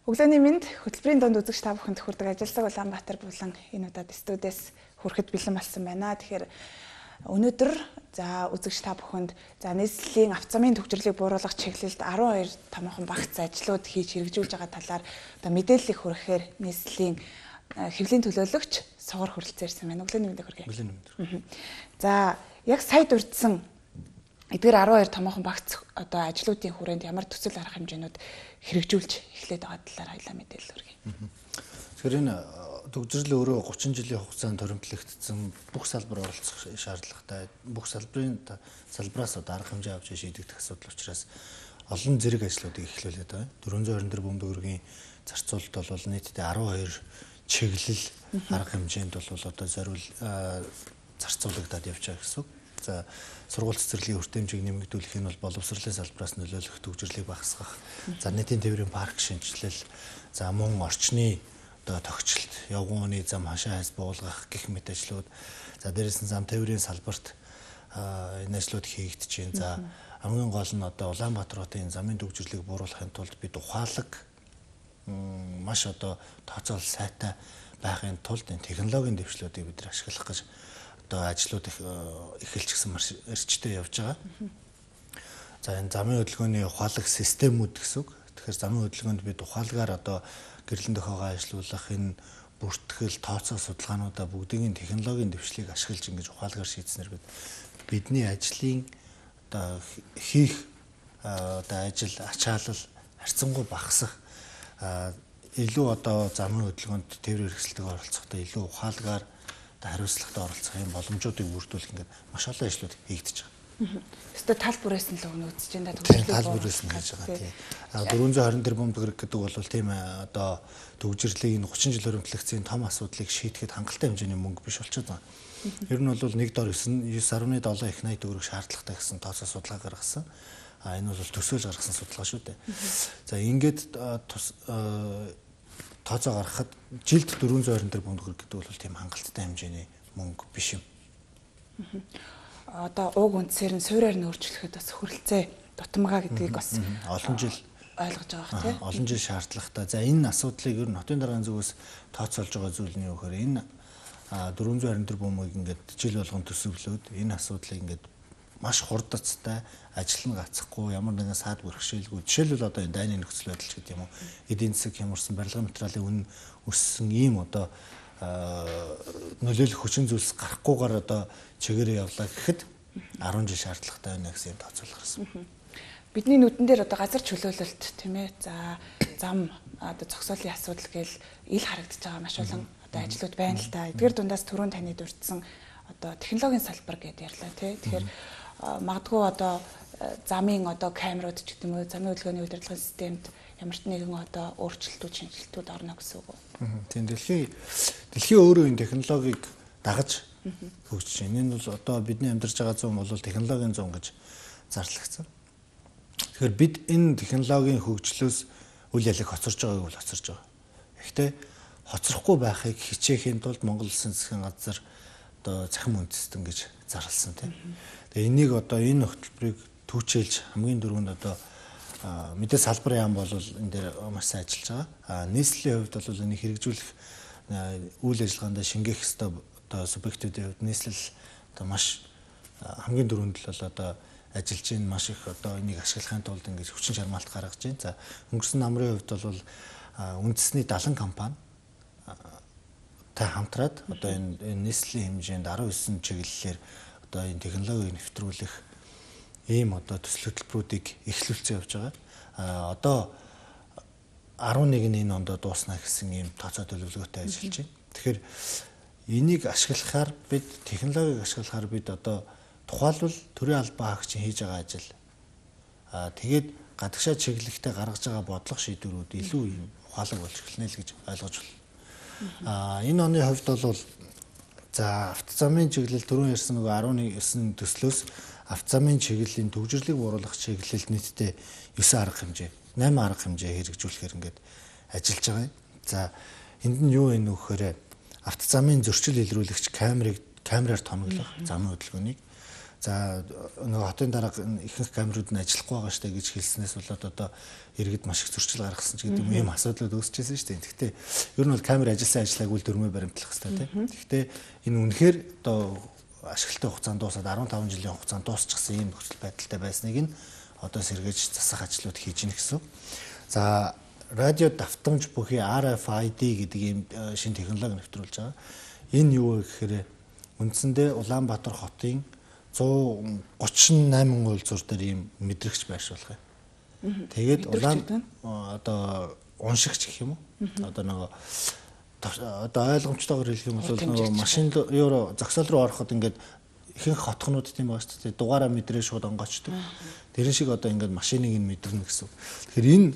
Өглөөний мэнд хөтөлбөрийн донд үзэгч та бүхэнд хүрдэг ажилсаг Улаанбаатар болон энэ удаад студиэс хүрэхэд бэлэн болсон байна. Тэгэхээр өнөөдөр үзэгч та бүхэнд нийслэлийн авто замын төвчрлийг бууруулах чиглэлд 12 томоохон багц ажлууд хийж хэрэгжүүлж байгаа талаар мэдээллийг хүрэхээр нийслэлийн хэвлэлийн төлөөлөгч сугар хүрэлцээрсэн байна. Өглөөний мэнд хүргэе. Өглөөний мэнд. За яг сая дурдсан эдгээр 12 томоохон багц ажлуудын хүрээнд ямар төсөл арга хэмжээнүүд хэрэгжүүлж эхлээд байгаа талаар хоёлаа мэдээлэл хүргэе. Тэгэхээр энэ төгжрөл өөрөө 30 жилийн хугацаанд торимтлагдсан бүх салбар оролцох шаардлагатай. Бүх салбараас арга хэмжээ авч шийдэгдэх асуудал учраас олон зэрэг ажлуудыг эхлүүлээд байгаа. 424 бөмбөг төгрөгийн зарцуулалт бол нийтдээ 12 чиглэл арга хэмжээнд бол зарцуулагдаад явж байгаа гэсэн үг. За сургууль цэцэрлэгийн үр хэмжээг нэмэгдүүлэх нь бол боловсролын салбараас нөлөөлөх төгжрлийг багасгах, за нийтийн тээврийн парк шинжилэл, за мөн орчны тогтчлолт, явган оны зам хашаа хайс буулгах гэх мэт ажлууд, за дээрээс нь зам тээврийн салбарт энэ ажлууд хийгдэж байна. За хамгийн гол нь Улаанбаатар хотын замын төгжрлийг бууруулахын тулд бид ухаалаг маш тооцоол сайтай байхын тулд энэ технологийн дэвшлүүдийг бид ашиглах гэж ажлууд эхэлчихсэн маш эрчтэй явж байгаа. За энэ замын хөдөлгөөний ухаалаг системүүд гэсэн үг. Тэгэхээр замын хөдөлгөөнд бид ухаалгаар гэрлэн дохиогоо ажилуулах энэ бүртгэл, тооцоо судалгаануудаа бүгдийн технологийн дэвшлийг ашиглаж ингэж ухаалгаар шийдснээр бидний ажлын хийх ажил ачаалал харьцангуй багасах, илүү замын хөдөлгөөнд тээврийн хэрэгсэлтэйг оролцохдоо илүү ухаалгаар хариуцлагатай оролцох юм боломжуудыг бүрдүүлэх ингээд маш олон ажлууд хийгдэж байгаа. Өөртөө тал бүрээс нь л өгнө үзэж байна. Тал бүрээс нь хийж байгаа тийм. 424 бөмбөг гэдэг бол тийм төгжрлийг 30 жил хөрөмтлөгцийн том асуудлыг шийдэхэд хангалттай хэмжээний мөнгө биш болчиход байгаа. Ер нь бол 1 дор 9.7 их 80 төгрөг шаардлагатай гэсэн тооцоо судалгаа гаргасан. Энэ бол төсөөлж гаргасан судалгаа шүү дээ. За ингээд тооцоо гаргахад жилд 424 бөмбөг гэдэг бол тийм хангалттай хэмжээний мөнгө биш юм. Уг үндсээр нь суурьаар нь өөрчлөхөд бас хүрэлцээ дутмага гэдгийг бас олон жил ойлгож байгаа тийм. Олон жил шаардлагатай. За энэ асуудлыг ер нь хотын даргын зүгээс тооцоолж байгаа зүйл нь юу гэхээр энэ 424 бөмбөгийг ингээд жил болгон төсөвлөөд энэ асуудлыг ингээд маш хурдцтай ажил нь гацхгүй ямар нэгэн саад бэрхшээлгүй. Жишээлбэл энэ дайны нөхцөл байдал ч гэдэг юм уу. Эдийн засаг хямарсан, барилгын материалын үнэ өссөн ийм нөлөөлөх хүчин зүйлс гарахгүйгээр чигээрээ явлаа гэхэд 10 жил шаардлагатай байна гэсэн тооцоол гарсан. Бидний нүдэн дээр газар чөлөөлөлт тийм ээ. За зам зогсоолын асуудал гээл ил харагдаж байгаа маш олон ажлууд байна л да. Эдгээр дундаас түрүүн таны дурдсан технологийн салбар гэдээ ярьлаа тий. Тэгэхээр магадгүй замын камерууд ч гэдэг юм уу, замын хөдөлгөөний удирдлагын системд ямар ч нэгэн өөрчлөлтүүд, шинжилтүүд орно гэсэн үг үү? Тийм дэлхийн өөрөө энэ технологиг дагаж хөгжиж байна. Энэ бол бидний амьдарч байгаа зам бол технологийн зам гэж зарлагдсан. Тэгэхээр бид энэ технологийн хөгжлөөс үл ялэг хоцорж байгааг бол хоцорж байгаа. Гэхдээ хоцрохгүй байхыг хичээхийн тулд Монгол Улсын засгийн газар захим үндэстэн гэж зарласан тийм. Тэгээ энийг энэ хөтөлбөрийг түүчээлж хамгийн дөрөнд мэдээ салбарын яам бол энэ дээр маш сайн ажиллаж байгаа. Нийслэлийн хувьд бол энийг хэрэгжүүлэх үйл ажиллагаанд шингээх ёстой субъектүүдийн хувьд нийслэл маш хамгийн дөрөнд л ажиллаж байна. Маш их энийг ашиглахын тулд ингэж хүчин чармаалт гаргаж байна. За өнгөрсөн намрын хувьд бол үндэсний 70 компани хамтраад энэ нийслэлийн хэмжээнд 19 чиглэлээр энэ технологиг нэвтрүүлэх ийм төсөл хөтөлбөрүүдийг эхлүүлсэн явж байгаа. 11-ний энэ онд дуусна гэсэн ийм тооцоо төлөвлөгөөтэй ажиллаж байна. Тэгэхээр энийг ашиглахаар бид технологиг ашиглахаар бид тухайлбал төрийн албан хаагчийн хийж байгаа ажил тэгээд гадагшаа чиглэлтэй гаргаж байгаа бодлого шийдвэрүүд илүү ийм ухаалаг болж эхэлнэ л гэж ойлгож байна. Энэ оны хувьд бол авто замын чиглэл түрүүн ярьсан 19 төслөөс авто замын чиглэлийн төгжрлийг бууруулах чиглэлд нийтдээ 9 арга хэмжээ, 8 арга хэмжээ хэрэгжүүлэхээр ингээд ажиллаж байгаа юм. За энд нь юу вэ нөхөөр авто замын зөрчил илрүүлэгч камераар тоноглох замын хөдөлгөөнийг, За нөгөө хотын дарга ихэнх камерууд нь ажиллахгүй байгаа штэ гэж хэлснээс болоод одоо иргэд маш их зөрчил гаргасан ч гэдэг юм асуудлууд үүсчихсэн шүү дээ. Гэхдээ ер нь бол камер ажилласан ажиллаагүй л дөрмөө баримтлах хэрэгтэй тийм. Гэхдээ энэ үнэхээр одоо ашиглалтын хугацаанд дуусаад 15 жилийн хугацаанд дуусчихсан ийм нөхцөл байдалтай байсныг нь одоо сэргээж засах ажлууд хийж гин гэсэн. За радио давтамж бүхий RFID гэдэг ийм шинэ технологи нэвтрүүлж байгаа. Энэ юу вэ гэхээр үндсэндээ Улаанбаатар хотын 138 уулзуур дээр ийм мэдрэгч байршуулах юм. Тэгээд одоо уншигч гэх юм уу? Одоо нөгөө одоо ойлгомжтойгоор хэлэх юм бол нөгөө машин руу зогсоол руу ороход ингээд ихэнх хотхнууд тийм байгаа шүү дээ. Дугаараа мэдрээ шууд онгоочдөг. Тэрэн шиг одоо ингээд машиныг нь мэдэрнэ гэсэн. Тэгэхээр энэ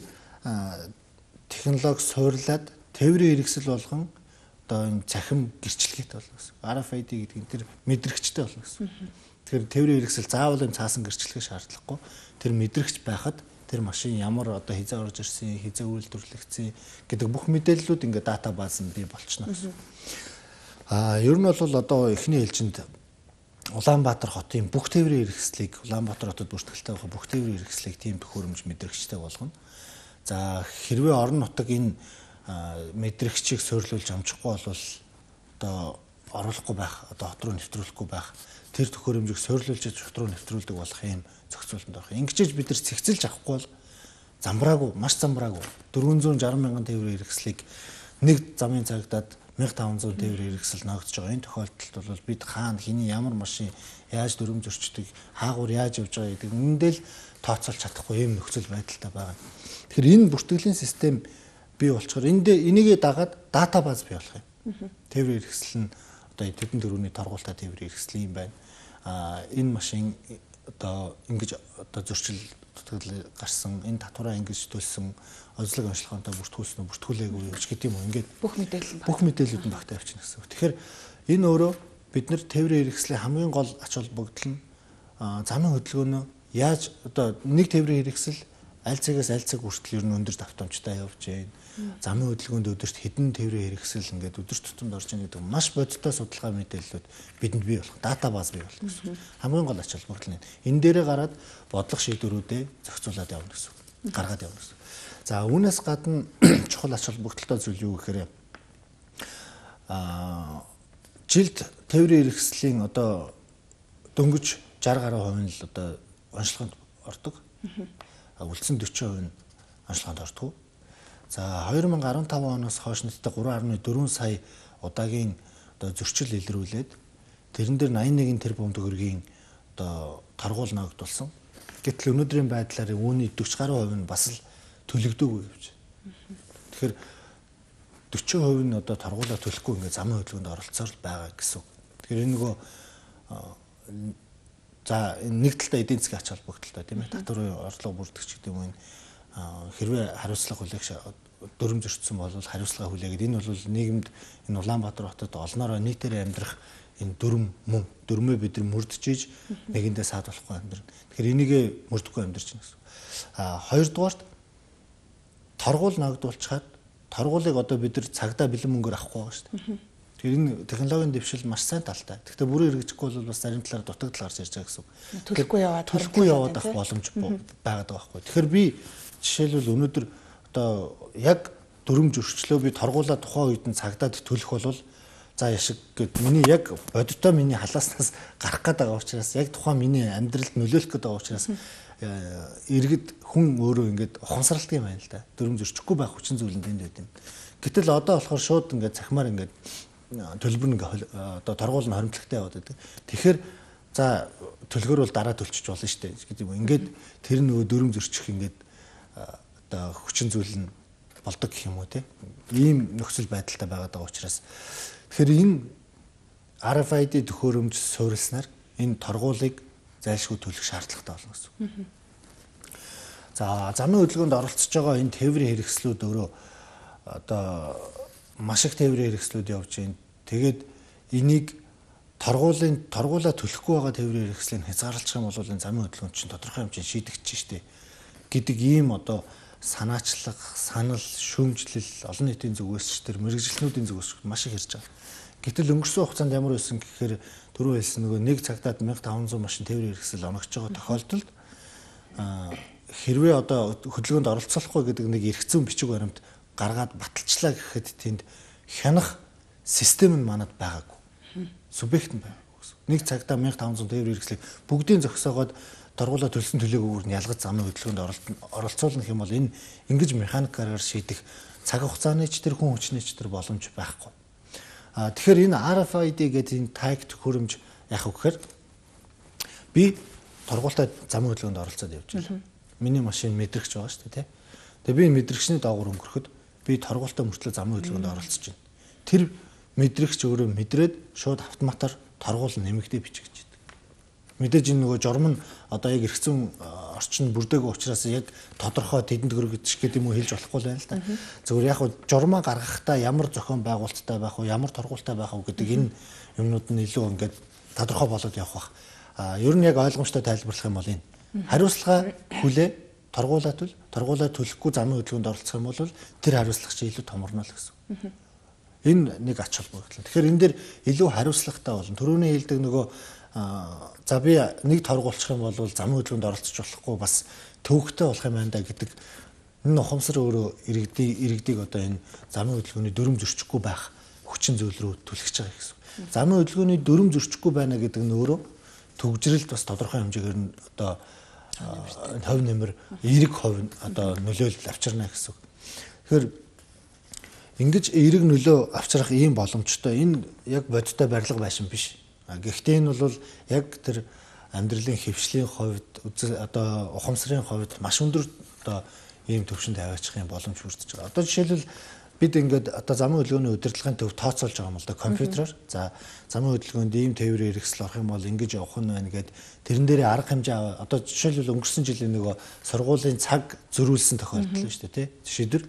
технологи суурлаад тээврийн хэрэгсэл болгон одоо энэ цахим гэрчлэгээтэй болно гэсэн. RFID гэдэг нь тэр мэдрэгчтэй болно гэсэн. Тэгэхээр тээврийн хэрэгсэл заавал энэ цаасан гэрчлэгээ шаардлагагүй. Тэр мэдрэгч байхад тэр машин ямар одоо хизээ орж ирсэн, хизээ үйлдвэрлэгдсэн гэдэг бүх мэдээллүүд ингээд дата бааз нь бий болчихно гэсэн. Ер нь бол одоо эхний ээлжинд Улаанбаатар хотын бүх тээврийн хэрэгслийг Улаанбаатар хотод бүртгэлтэй байх бүх тээврийн хэрэгслийг тийм төхөөрөмж мэдрэгчтэй болгоно. За хэрвээ орон нутаг энэ мэдрэгчийг суйрлуулж амжихгүй бол одоо оруулахгүй байх, одоо хот руу нэвтрүүлэхгүй байх, тэр төхөөрөмжийг суйрлуулж хот руу нэвтрүүлдэг болох юм зохицуултанд орох. Ингэж бид нар цэгцэлж авахгүй бол замбраагүй, маш замбраагүй 460 мянган тээврийн хэрэгслийг нэг замын цагдаад 1500 тээврийн хэрэгсэл ногдож байгаа. Энэ тохиолдолд бол бид хаана хэний ямар машин яаж дүрм зөрчдөг, хаагур яаж явж байгаа гэдэг үнэндээ л тооцоолж чадахгүй юм нөхцөл байдалтай байгаа. Тэгэхээр энэ бүртгэлийн систем бий болчоор энийгээ дагаад дата бааз бий болох юм. Тээврийн хэрэгсэл нь одоо тэдэн дөрөвний торгуултай тээврийн хэрэгсэл юм байна. Энэ машин одоо ингэж одоо зөрчил гарсан, энэ татвараа ингэж төлсөн, онцлог онцлогоонтой бүртгүүлсэн үү, бүртгүүлээгүй юу гэдэг юм уу. Ингээд бүх мэдээллүүд нь багтаа явчихна гэсэн. Тэгэхээр энэ өөрөө бид нар тээврийн хэрэгслийн хамгийн гол ач холбогдол нь замын хөдөлгөөнөө яаж одоо нэг тээврийн хэрэгсэл аль цагаас аль цаг хүртэл ер нь өндөр давтамжтай явж байна. Замын хөдөлгөөнд өдөрт хэдэн тээврийн хэрэгсэл ингээд өдөр тутамд орж ийн гэдэг маш бодиттой судалгаа мэдээллүүд бидэнд бий болох, дата бааз бий болох гэсэн. Хамгийн гол ач холбогдол нь. Энэ дээрээ гараад бодлого шийдвэрүүдээ зохицуулаад явна гэсэн. Гаргаад явна гэсэн. За үүнээс гадна чухал ач холбогдолтой зүйл юу гэхээр жилд тээврийн хэрэгслийн одоо дөнгөж 60 гаруй хувь нь л одоо онцлогонд ордог. Үлдсэн 40% нь онцлогонд ордог. За 2015 оноос хойш нийтдээ 3.4 сая удаагийн одоо зөрчил илрүүлээд тэрэн дээр 81 тэрбум төгрөгийн одоо торгуул ногдуулсан. Гэтэл өнөөдрийн байдлаар үүний 40 гаруй хувь нь бас л төлөгдөөгүй явж байна. Тэгэхээр 40% нь одоо торгуулаа төлөхгүй ингээд замын хөдөлгөөнд оролцоор байгаа гэсэн. Тэгэхээр энэ нөгөө за нэг талдаа эдийн засгийн ач холбогдолтой тийм ээ. Татварын орлого бүрдэгч гэдэг юм энэ хэрвээ хариуцлага хүлээх дүрм зөрчсөн бол хариуцлага хүлээгээд энэ бол нийгэмд энэ Улаанбаатар хотод олноороо нийтээр амьдрах энэ дөрмөө бид нар мөрдөж нэгэндээ саад болохгүй амьдрна. Тэгэхээр энийг мөрдөхгүй амьдрч гэнэ гэсэн. Хоёрдугаарт торгуул ногдуулчихад торгуулийг одоо бид нар цагдаа бэлэн мөнгөөр авахгүй байгаа шүү дээ. Тэгэхээр энэ технологийн дэвшил маш сайн талтай. Гэхдээ бүрэн хэрэгжихгүй бол бас зарим талаар дутагдал гарч ирж байгаа гэсэн. Төлөхгүй яваад авах боломж байгаад байгаа байхгүй. Тэгэхээр би жишээлбэл өнөөдөр одоо яг дүрм зөрчлөө би торгуулаа тухайн үед нь цагдаад төлөх бол за яшиг гэд миний яг бодиттой миний халааснаас гарах гээд байгаа учраас яг тухайн миний амьдралд нөлөөлөх гээд байгаа учраас иргэд хүн өөрөө ингээд ухамсарладаг юм байна л да. Дүрм зөрчихгүй байх хүчин зүйл нь тэнд байд юм. Гэтэл одоо болохоор шууд ингээд цахимаар ингээд төлбөр нэг одоо торгуул нь хоримтлагтай яваад байдаг. Тэгэхээр за төлгөр бол дараа төлчих болно шүү дээ гэдэг юм. Ингээд тэр нөгөө дүрм зөрчих ингээд одоо хүчин зүйл нь болдог гэх юм уу те. Ийм нөхцөл байдалтай байгаад байгаа учраас тэгэхээр энэ RFID төхөөрөмж суурилснаар энэ торгуулийг зайлшгүй төлөх шаардлагатай болно гэсэн. За замын хөдөлгөөнд оролцож байгаа энэ тээврийн хэрэгслүүд өөрөө одоо маш их тээврийн хэрэгслүүд явж байна. Тэгээд энийг торгуулаа төлөхгүй байгаа тээврийн хэрэгслийг хязгаарлах юм бол энэ замын хөдөлгөөнд чинь тодорхой хэмжээнд шийдэгдэж штэ гэдэг ийм одоо санаачлаг, санал, шүүмжлэл, олон нийтийн зүгээс ч тэр мэрэгжлэнүүдийн зүгээс маш их ирж байгаа. Гэтэл өнгөрсөн хугацаанд ямар байсан гэхээр түрүү хэлсэн нөгөө нэг цагтад 1500 машин тээврийн хэрэгсэл оногч байгаа тохиолдолд хэрвээ одоо хөдөлгөөнд оролцохгүй гэдэг нэг эрх зүйн бичиг баримт гаргаад баталчлаа гэхэд тэнд хянах систем нь манад байгаагүй. Субъект нь байгаагүй гэсэн. Нэг цагтаа 1500 тээврийн хэрэгслийг бүгдийн зогсоогоод торгуулаа төлсөн төлөөгүйгээр нь ялгаж замын хөдөлгөөнд оролцуулна гэх юм бол энэ ингэж механикаар шийдэх цаг хугацааны ч тэр хүн хүчний ч тэр боломж байхгүй. Тэгэхээр энэ RFID гэдэг энэ tag төхөөрөмж яах вэ гэхээр би торгуулаа замын хөдөлгөөнд оролцоод явж байна. Миний машин мэдрэгч байгаа шүү дээ, тий. Тэгээ би мэдрэгчний доогуур өнгөрөхөд би торгуултаа мөртлөө замын хөдөлгөөнд оролцож байна. Тэр мэдрэгч өөрөө мэдрээд шууд автоматар торгуул нэмэгдээ бичиж байдаг. Мэдээж энэ нөгөө журам нь одоо яг эргэцэн орчин бүрдээгүй учраас яг тодорхой тэдэнд хөргөж гэдэг юм уу хэлж болохгүй байна л да. Зөвхөн яг журмаа гаргахтаа ямар зохион байгуулалттай байх вэ, ямар торгуулттай байх вэ гэдэг энэ юмнууд нь илүү ингээд тодорхой болоод явах бах. Ер нь яг ойлгомжтой тайлбарлах юм бол энэ хариуцлага хүлээ торгуулаа төлөхгүй замын хөдөлгөөнд оролцох юм бол тэр хариуцлага чи илүү томорно л гэсэн. Энэ нэг ач холбогдол. Тэгэхээр энэ дээр илүү хариуцлагатай болно. Төрөний хэлдэг нөгөө за би нэг торгуулчих юм бол замын хөдөлгөөнд оролцож болохгүй бас төвөгтэй болох юм байна да гэдэг энэ ухамсар өөрөө иргэдийг одоо энэ замын хөдөлгөөний дүрм зөрчихгүй байх хүчин зүйл рүү түлхэж байгаа гэсэн. Замын хөдөлгөөний дүрм зөрчихгүй байна гэдэг нь өөрөө төгжрэлд бас тодорхой хэмжээгээр нь одоо хувь нэмэр эерэг хувь одоо нөлөөлөл авчирна гэсэн. Тэгэхээр ингэж эерэг нөлөө авчрах ийм боломжтой энэ яг бодиттой барилга байшин биш. Гэхдээ энэ бол яг тэр амьдралын хэвшлийн хувьд одоо ухамсарын хувьд маш өндөр одоо ийм төвшөнд аваачих юм боломж бүрдэж байгаа. Одоо жишээлбэл бид ингээд одоо замын хөдөлгөөний удирдлагын төв тооцоолж байгаа юм л да компьютероор. За замын хөдөлгөөнд ийм тээврийн хэрэгсэл орох юм бол ингэж явах нь байна гэд тэрэн дээрээ арга хэмжээ одоо жишээлбэл өнгөрсөн жилийн нөгөө сургуулийн цаг зөрүүлсэн тохиолдол шүү дээ тий шийдвэр.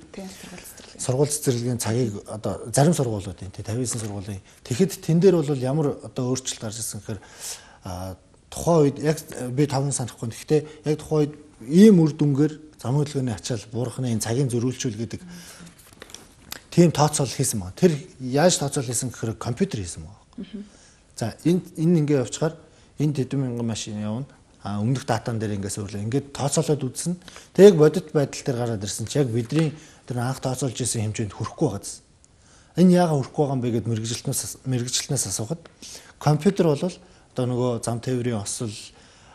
Сургууль цэцэрлэгийн цагийг одоо зарим сургуулиудын тий 59 сургуулийн тэгэхэд тэн дээр бол ямар одоо өөрчлөлт гарч ирсэн гэхээр тухайн үед яг би таван санахгүй. Гэхдээ яг тухайн үед ийм үр дүнгээр замын хөдөлгөөний ачаал буурхны энэ цагийн зөрүүлчүүл гэдэг тийм тооцоол хийсэн байна. Тэр яаж тооцоол хийсэн гэхээр компьютер хийсэн байна. За энэ ингээ явчихаар энэ тэдэн мянган машин явна. Өмнөх датан дээр ингээс өрлөө. Ингээд тооцоолоод үзсэн. Тэг яг бодит байдал дээр гараад ирсэн чи яг бидний тэр анх тооцоолж исэн хэмжээнд хүрэхгүй байгааз. Энэ яагаад хүрэхгүй байгаа юм бэ гэд мэрэгжилтнээс асуухад компьютер бол одоо нөгөө зам тээврийн осол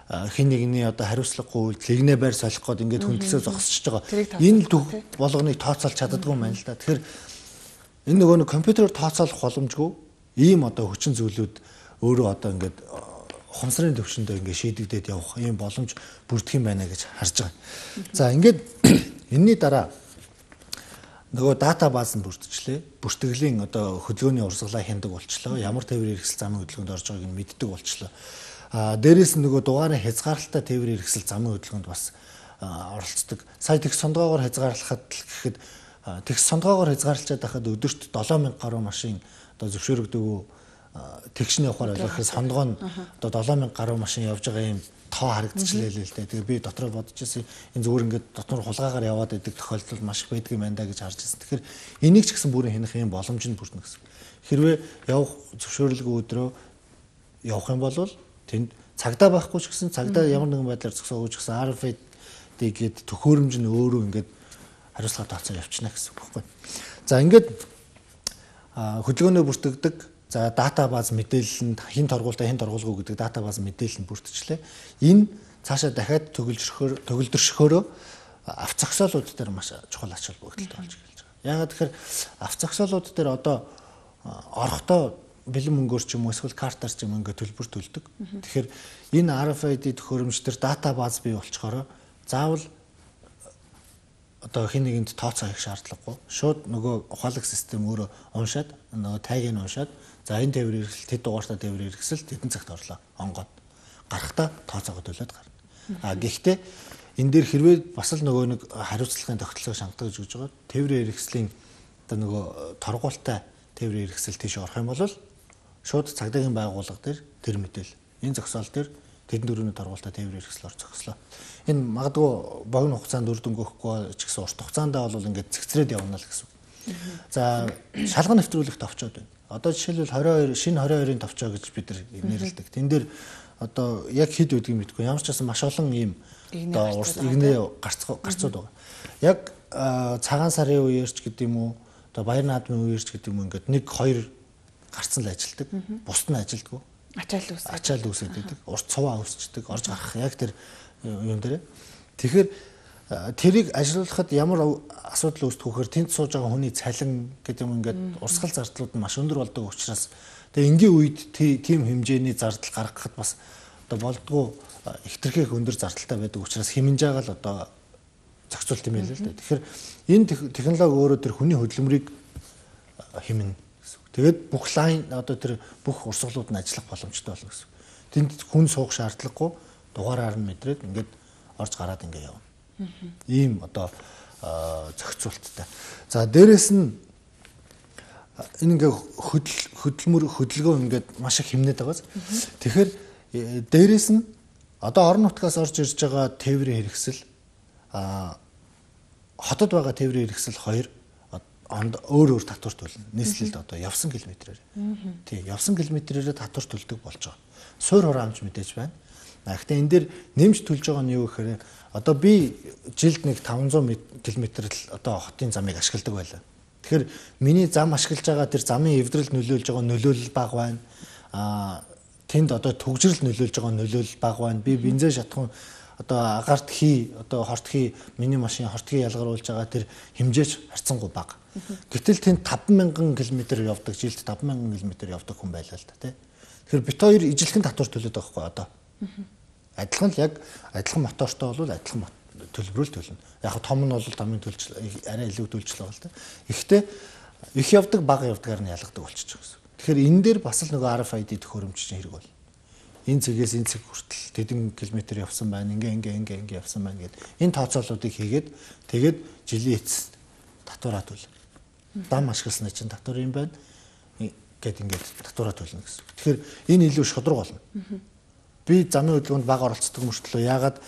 хин нэгний одоо хариуцлагагүй үйлдэл игнэ байр солих гээд ингээд хөндлөсөө зогсчихж байгаа. Энэ төв болгоныг тооцоолж чаддаггүй юм байна л да. Тэгэхээр энэ нөгөө компьютероор тооцоолох боломжгүй ийм одоо хүчин зүйлүүд өөрөө одоо ингээд ухамсарын төвшөндөө ингээд шийдэгдээд явах ийм боломж бүрдэх юм байна гэж харж байгаа. За ингээд энэний дараа нөгөө дата бааз нь бүрдчихлээ. Бүртгэлийн одоо хөдөлгөөний урсгалаа хяндаг болчлоо. Ямар тээврийн хэрэгсэл замын хөдөлгөөнд орж байгааг нь мэддэг болчлоо. Дээрээс нь нөгөө дугаарын хязгаарлалтаа тээврийн хэрэгсэл замын хөдөлгөөнд бас оролцдог. Сая тэгс сондгоогоор хязгаарлахад гэхэд тэгс сондгоогоор хязгаарлалчаад байхад өдөрт 7000 гаруй машин одоо зөвшөөрөгдөгөө тэгшний явахаар ойлгохоор сондгоо нь одоо 7000 гаруй машин явж байгаа юм тоо харагдчихлээ л дээ. Тэгээ би дотроо бодож ирсэн энэ зүгээр ингээд дотор хулгаагаар яваад байдаг тохиолдол маш их байдаг юм байна да гэж харж ирсэн. Тэгэхээр энийг ч гэсэн бүрэн хянах юм боломж нь бүрдэнэ гэсэн. Хэрвээ явах зөвшөөрлөг өдрөө явах юм бол тэнд цагдаа байхгүй ч гэсэн цагдаа ямар нэгэн байдлаар зогсоогүй ч гэсэн RFID гээд төхөөрөмж нь өөрөө ингээд хариуцлага тооцоо явчихна гэсэн үг байхгүй. За ингээд хөдөлгөөнөө бүртгэдэг за дата бааз мэдээлэл нь хин торгуулалтаа хин торгуулгүй гэдэг дата бааз мэдээлэл нь бүрдчихлээ. Энэ цаашаа дахиад төгөлдрөшөхөөрөө авц зогсоолууд дээр маш чухал ач холбогдолтой болж эхэлж байгаа. Яагаад тэгэхээр авц зогсоолууд дээр одоо орохдоо бэлэн мөнгөөр ч юм уу эсвэл картаар ч юм ингээд төлбөр төлдөг. Тэгэхээр энэ RFID төхөөрөмж төр дата бааз бий болчхороо заавал одоо хин нэгэнд тооцоо хийх шаардлагагүй. Шууд нөгөө ухаалаг систем өөрөө уншаад нөгөө тайгийг нь уншаад за энэ тээврийн хэрэгсэл тэд дугаартаа тээврийн хэрэгсэл тэдэн цагт орлоо онгоод гарахтаа тооцоогоо төлөөд гарна. Гэхдээ энэ дээр хэрвээ бас л нөгөө нэг хариуцлагын тогтолцоог шаарддаг гэж байгаа. Тээврийн хэрэгслийн одоо нөгөө торгуултай тээврийн хэрэгсэл тийш орох юм бол шууд цагдаагийн байгууллага дээр тэр мэдээл энэ зогсоол дээр тэдэн дөрөвний торгуултай тээврийн хэрэгслээр зогслоо. Энэ магадгүй богино хугацаанд үр дүн өгөхгүй ч гэсэн урт хугацаанд бол ингээд цэгцрээд явна л гэсэн. За шалган нэвтрүүлэгт овчоод байна. Одоо жишээлбэл 22 шинэ 22-ын товчоо гэж бид нар нэрлэдэг. Тэн дээр одоо яг хэд үдгийг мэдгүй. Ямар ч байсан маш олон ийм одоо игнээ гарцууд байгаа. Яг цагаан сарын үеэрч гэдэг юм уу, одоо баяр наадмын үеэрч гэдэг юм ингээд 1 2 гарцсан л ажилдаг. Бусд нь ажилдгүй. Ачаал үүсээд байдаг. Урт цуваа үүсчдэг. Орж гарах яг тэр юм дээр. Тэгэхээр тэрийг ажилуулахад ямар асуудал үүсдэг вэхээр тэнд сууж байгаа хүний цалин гэдэг юм ингээд урсгал зардлууд нь маш өндөр болдог учраас тэгээ энгийн үед тийм хэмжээний зардал гаргахад бас одоо болдгоо ихтэрхийх өндөр зардалтай байдаг учраас хэмнэж байгаа л одоо зохицуулт юм байл л да. Тэгэхээр энэ технологи өөрөө тэр хүний хөдөлмөрийг хэмнэ гэсэн үг. Тэгээд бүх лайн одоо тэр бүх урсгалууд нь ажиллах боломжтой болно гэсэн үг. Тэнд хүн суух шаардлагагүй дугаараар нь мэдрээд ингээд орж гараад ингээд явна. Ийм одоо зохицуулттай. За дээрэс нь энэ ингээ хөдөлгөөн ингээд маш их хэмнээд байгааз. Тэгэхээр дээрэс нь одоо орон нутгаас орж ирж байгаа тээврийн хэрэгсэл хотод байгаа тээврийн хэрэгсэл хоёр өөр татвар төлнө. Нийслэлд одоо явсан километрээр. Тий, явсан километрээр татвар төлдөг болж байгаа. Суур хураамж мэдээж байна. Гэхдээ энэ дээр нэмж төлж байгаа нь юу гэхээр одоо би жилд нэг 500 км л одоо хотын замыг ашигладаг байлаа. Тэгэхээр миний зам ашиглаж байгаа тэр замын эвдрэл нөлөөлж байгаа нөлөөлөл бага байна. Тэнд одоо төгжрөл нөлөөлж байгаа нөлөөлөл бага байна. Би бензин шатхан одоо агарт одоо хортхий миний машин хортхий ялгаруулж байгаа тэр хэмжээч харьцангуй бага. Гэтэл тэнд 50000 км явдаг, жилд 50000 км явдаг хүн байлаа л да тий. Тэгэхээр бит хоёр ижилхэн татвар төлөд байгаа хгүй одоо. Адилхан л яг адилхан мотортой бол адилхан төлбөрөөл төлнө. Яг том нь бол томын төлж арай илүү төлж л байгаа л да. Гэхдээ их явдаг бага явдгаар нь ялгадаг болчихж байгаа гэсэн. Тэгэхээр энэ дээр бас л нөгөө RFID төхөөрөмж чинь хэрэг бол. Энэ цэгээс энэ цэг хүртэл тэдэн километр явсан байна. Ингээ явсан байна гэд. Энэ тооцооллуудыг хийгээд тэгээд жилийн эцэст татвараа төлнө. Дам ашигласны чинь татвар юм байна. Гэт ингээд татвараа төлнө гэсэн. Тэгэхээр энэ илүү шудраг болно. Би замын хөдөлгөөнд бага оролцдог мөртлөө яагаад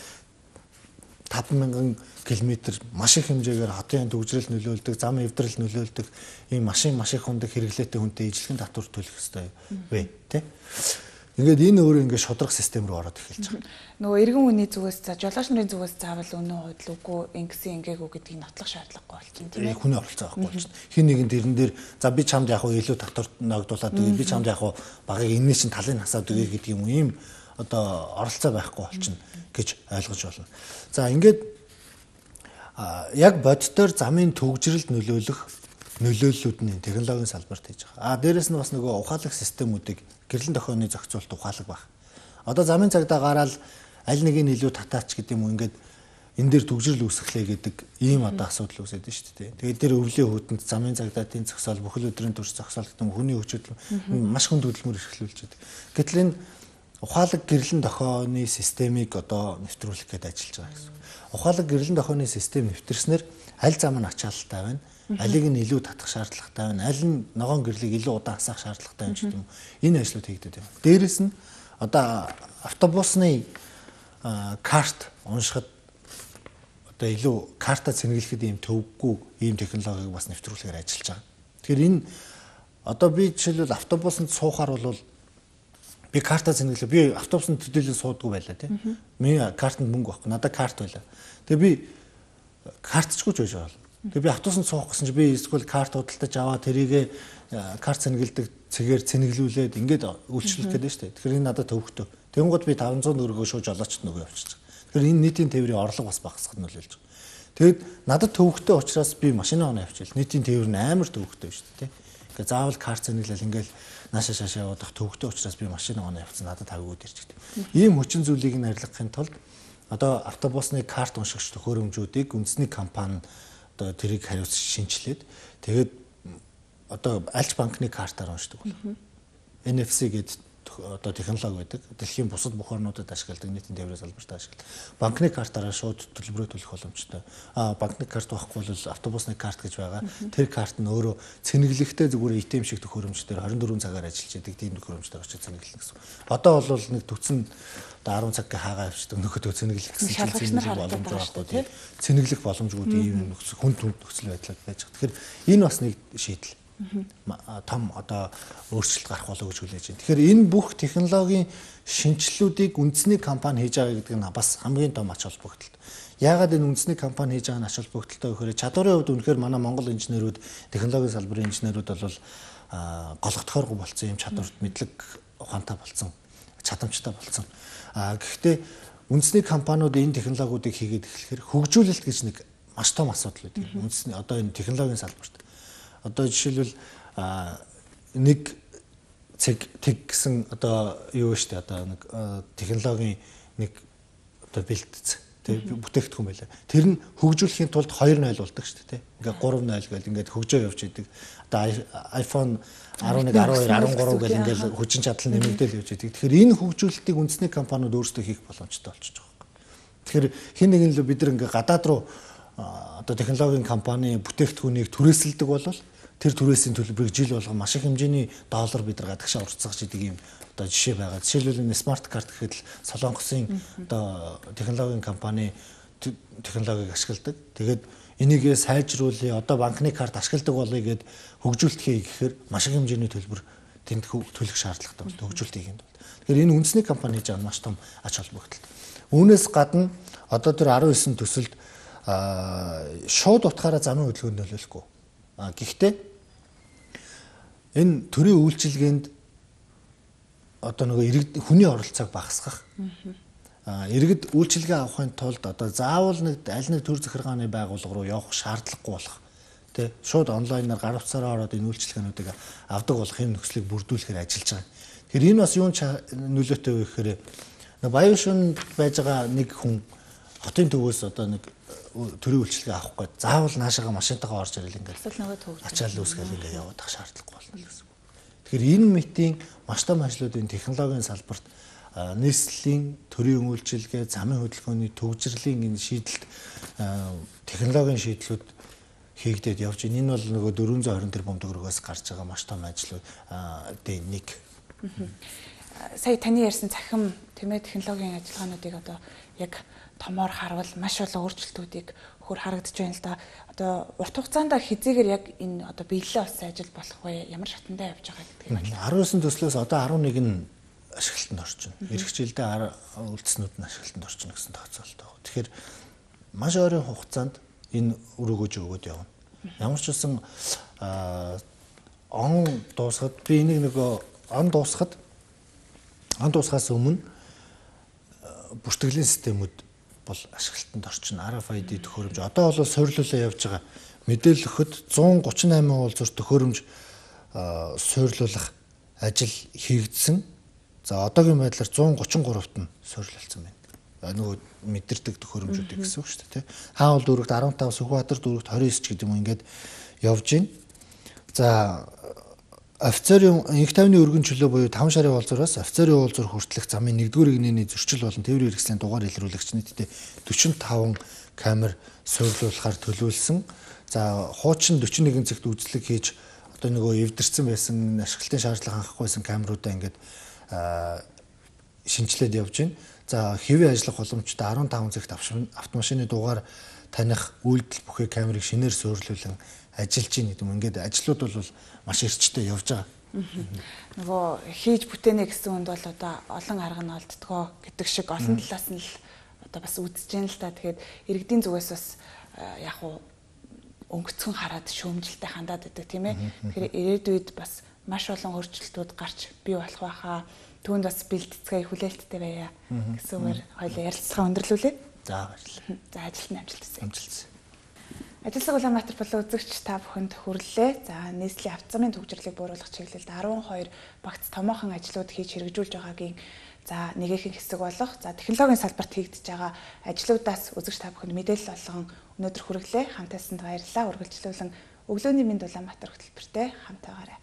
50000 км маш их хэмжээгээр хотын төгжрөл нөлөөлдөг, зам эвдрэл нөлөөлдөг ийм машин маш их хундаг хэрэглээтэй хүнтэй ижилхэн татвар төлөх хэрэгтэй вэ, тэ? Ингээд энэ өөрөө ингээд шудраг систем рүү ороод эхэлж байгаа. Нөгөө иргэн хүний зүгээс за жолооч нарын зүгээс заавал өнөө худлаагүй ингэсэн ингээгүй гэдгийг нотлох шаардлагагүй болчихно тийм ээ. Хүний оролцоо авахгүй болчихно. Хин нэгэн тэрэн дээр за би чамд яг илүү татвар ногдуулаад өгье, би чамд яг багыг энэний чинь талын хасаад өгье гэдэг юм ийм одоо оролцоо байхгүй болчихно гэж ойлгож байна. За ингээд яг боддоор замын төгжрөлд нөлөөлөх нөлөөллүүд нь технологийн салбарт хийж байгаа. Дээрэс нь бас нөгөө ухаалаг системүүдийг гэрлэн дохионы зохицуулт ухаалаг баг. Одоо замын цагдаа гараад аль нэг нь илүү татаач гэдэг юм уу ингээд энэ дээр төгжрөл үүсгэлээ гэдэг ийм одоо асуудал үүсээд байна шүү дээ. Тэгээд тэр өвлийн хөтөнд замын цагдаагийн зохицол бүхэл өдрийн турш зохицол гэдэг нь хүний хүчтэй маш хүнд хөдөлмөр эрхлүүлж байдаг. Гэтэл энэ ухаалаг гэрлэн дохионы системийг одоо нэвтрүүлэх гэдэг ажиллаж байгаа гэсэн. Ухаалаг гэрлэн дохионы систем нэвтэрснээр аль зам нь ачаалттай байна, алийг нь илүү татах шаардлагатай байна, аль нь ногоон гэрлийг илүү удаан хасах шаардлагатай юм ч гэдэг юм. Энэ ажлууд хийгдээд байна. Дээрээс нь одоо автобусны карт уншихад одоо илүү карта цэнгэлэхэд ийм төвөггүй ийм технологиг бас нэвтрүүлэхээр ажиллаж байгаа. Тэгэхээр энэ одоо би жишээлбэл автобусанд суухаар бол би карта цэнгэлээ. Би автобусанд төдийлөн суудгүй байлаа тийм. Миний картанд мөнгө байхгүй. Надад карт байлаа. Тэгээ би картчгүй ч байж байгаа. Тэгээ би автобусанд суух гэсэн чи би эсвэл карт худалдаж аваад тэрийгэ карт цэнгэлдэг цэгээр цэнгэлүүлээд ингээд үйлчлүүлэх гэдэг нь шүү дээ. Тэгэхээр энэ надад төвөгтэй. Тэнгууд би 500 төгрөгөө шууд жолоочт нөгөө явчихсан. Тэгэхээр энэ нийтийн тээврийн орлого бас багасгах нь нөлөөлж байгаа. Тэгэд надад төвөгтэй учраас би машинаа оноо явчихвал нийтийн тээвэр нь амар төвөгтэй шүү дээ. Тэгээ заавал карт цэнгэлэл ингээл нааша шаашаа явах төвөгтэй учраас би машинаа оноо явцсан надад тавигууд ирж гэдэг. Ийм хүчин зүйлийг нь арилгахын тулд одоо автобусны карт уншигч төхөөрөмжүүдийг үндэсний компани одоо тэрийг хариуц шинжилээд тэгээд одоо альч банкны картаар уншдаг болно. NFC гэдэг одоо технологи байдаг. Дэлхийн бусад бүх орнуудад ашигладаг нийтийн тээврийн салбарт ашигладаг. Банкны картаараа шууд төлбөрөө төлөх боломжтой. Банкны карт байхгүй бол автобусны карт гэж байгаа. Тэр карт нь өөрөө цэнэглэхтэй зүгээр ATM шиг төхөөрөмжтөр 24 цагаар ажиллаж байдаг тийм төхөөрөмжтөр очиж цэнэглэнэ гэсэн. Одоо бол нэг төвцөн 10 цаг хаагаа авчдаг нөхөдөө цэнэглэх гэсэн боломж байхгүй тийм. Цэнэглэх боломжгүй ийм хүнд нөхцөл байдлаар байж байгаа. Тэгэхээр энэ бас нэг шийдэл. том одоо өөрчлөлт гарах болов гэж хүлээж байна. Тэгэхээр энэ бүх технологийн шинжилэлүүдийг үндэсний компани хийж байгаа гэдэг нь бас хамгийн том ач холбогдолтой. Яагаад энэ үндэсний компани хийж байгаа нь ач холбогдолтой гэхээр чадварын хувьд үнэхээр манай Монгол инженерүүд, технологийн салбарын инженерүүд бол голгодохооргүй болсон юм чадварт мэдлэг ухаантай болсон, чадамжтай болсон. Гэхдээ үндэсний компаниуд энэ технологиудыг хийгээд эхлэхээр хөгжүүлэлт гэж нэг маш том асуудал үүдэг. Үндэсний одоо энэ технологийн салбарт. Одоо жишээлбэл нэг тэг гэсэн одоо юу вэ штэ одоо нэг технологийн нэг одоо бэлтгэц тэг бүтээгдэхүүн байлаа. Тэр нь хөгжүүлэхийн тулд 2.0 болдог штэ тэг. Ингээ 3.0 гэл ингээд хөгжөө явж идэг. Одоо iPhone 11, 12, 13 гэл ингээл хүчин чадал нэмэгдэл явж идэг. Тэгэхээр энэ хөгжүүлэлтийг үндэсний компаниуд өөрсдөө хийх боломжтой болчихж байгаа юм. Тэгэхээр хин нэгэн л бид нар ингээ гадаад руу одоо технологийн компани бүтээгдэхүүнийг түрээсэлдэг бол тэр түрээсийн төлбөрийг жил болгон маш их хэмжээний доллар бид нар гадагшаа уртсгаж идэг юм одоо жишээ байгаа. Жишээлбэл энэ смарт карт гэхэд л Солонгосын одоо технологийн компани технологиг ашигладаг. Тэгээд энийгээ сайжруулъя, одоо банкны карт ашигладаг болъё гэд хөгжүүлэлт хийе гэхээр маш их хэмжээний төлбөр тэнд төлөх шаардлагатай байна. Хөгжүүлэлт хийх юм бол. Тэгэхээр энэ үндэсний компани хийж байгаа маш том ач холбогдолтой. Үүнээс гадна одоо тэр 19 төсөлд шууд утгаараа замын хөдөлгөөнд нөлөөлөхгүй. Гэхдээ энэ төрийн үйлчилгээнд одоо нөгөө хүний оролцоог багасгах. Иргэд үйлчилгээ авахын тулд одоо заавал нэг аль нэг төр захиргааны байгууллага руу явах шаардлагагүй болох. Тэ шууд онлайнаар гар утсаараа ороод энэ үйлчилгээнүүдийг авдаг болох юм нөхцөлийг бүрдүүлэхээр ажиллаж байгаа. Тэгэхээр энэ бас юун нөлөөтэй вэ гэхээр Баян шөнөнд байж байгаа нэг хүн хотын төвөөс одоо нэг төрийн үйлчилгээ авах гээд заавал наашаага машинтайгаа орж ирэл ингээд ачаал үүсгээл ингээд яваад ах шаардлагагүй болно гэсэн. Тэгэхээр энэ мэтийн маш том ажлуудын технологийн салбарт нийслэлийн төрийн үйлчилгээ, замын хөдөлгөөний төвжирлийн энэ шийдэлт технологийн шийдлүүд хийгдээд явж байна. Энэ бол нөгөө 420 тэрбум төгрөгөөс гарч байгаа маш том ажлуудын нэг. Сая таны ярьсан цахим тэмээ технологийн ажиллагаануудыг одоо яг томоор харвал маш олон өөрчлөлтүүдийг хөр харагдаж байна л да. Одоо урт хугацаанд хизээгээр яг энэ одоо биелэлээ болсон ажил болох вэ? Ямар шатандаа явж байгаа гэдгийг байна. 19 төслөөс одоо 11 нь ашиглалтанд орчихно. Ирэх жилдээ үлдснүүд нь ашиглалтанд орчихно гэсэн тооцоололтой байна. Тэгэхээр маш ойрын хугацаанд энэ өрөөгөөж өгөөд явна. Ямар ч үсэн он дуусахад би энийг нөгөө он дуусахаас өмнө бүртгэлийн системүүд бол ашиглалтанд орчихно. RFID төхөөрөмж одоо бол суйрлуулаа явж байгаа. Мэдээлэл өгөхөд 138 уулзалт төхөөрөмж суйрлуулах ажил хийгдсэн. За одоогийн байдлаар 133-т нь суйрлуулсан байна. Нөгөө мэдэрдэг төхөөрөмжүүдийг гэсэн үг шүү дээ. Хаавал дүүрэгт 15, Сүхбаатар дүүрэгт 29 ч гэдэг юм ингээд явж байна. За офицерын инх тайвны өргөн чөлөө буюу 5 шарын уулзуураас офицерын уулзуур хүртэлх замын 1-р игнэний зөрчил болон тээврийн хэрэгслийн дугаар илрүүлэгч нийтдээ 45 камер суйрлуулахаар төлөвлөсөн. За хуучин 41 цагт үзлэг хийж одоо нөгөө эвдэрсэн байсан ашиглалтын шаардлага хангахгүй байсан камеруудаа ингээд шинжилээд явж байна. За хэвийн ажиллах боломжтой 15 цагт автомашины дугаар таних үйлдэл бүхий камерыг шинээр суйрлуулан ажиллаж байна гэдэг юм. Ингээд ажлууд бол маш эрчтэй явж байгаа. Нөгөө хийж бүтээнэ гэсэн үнд бол одоо олон арга нь олддгоо гэдэг шиг олон талаас нь л одоо бас үзэж байна л та. Тэгэхээр иргэдийн зүгээс бас яг уу өнгөцгөн хараад шүүмжилтэй хандаад байдаг тийм ээ. Тэгэхээр ирээдүйд бас маш олон өөрчлөлтүүд гарч бий болох байхаа. Түүнд бас бэлтгэцгээ хүлээлттэй байя гэсэн үгээр хоёул ярилцлага өндөрлүүлээ. За баярлалаа. За ажилтны амжилт хүсье. Амжилт. Ажилсаг Улаанбаатар болон үзэгч та бүхэнд хүрэлээ. За нийслэлийн авто замын төвжирлийг бууруулах чиглэлд 12 багц томоохон ажлууд хийж хэрэгжүүлж байгаагийн за нэгэн хэсэг болох за технологийн салбарт хийгдэж байгаа ажлуудаас үзэгч та бүхэнд мэдээлэл олгон өнөөдөр хүргэлээ. Хамтаасанд баярлалаа. Үргэлжлүүлэн өглөөний мэнд Улаанбаатар хөтөлбөртэй хамтаагаарай.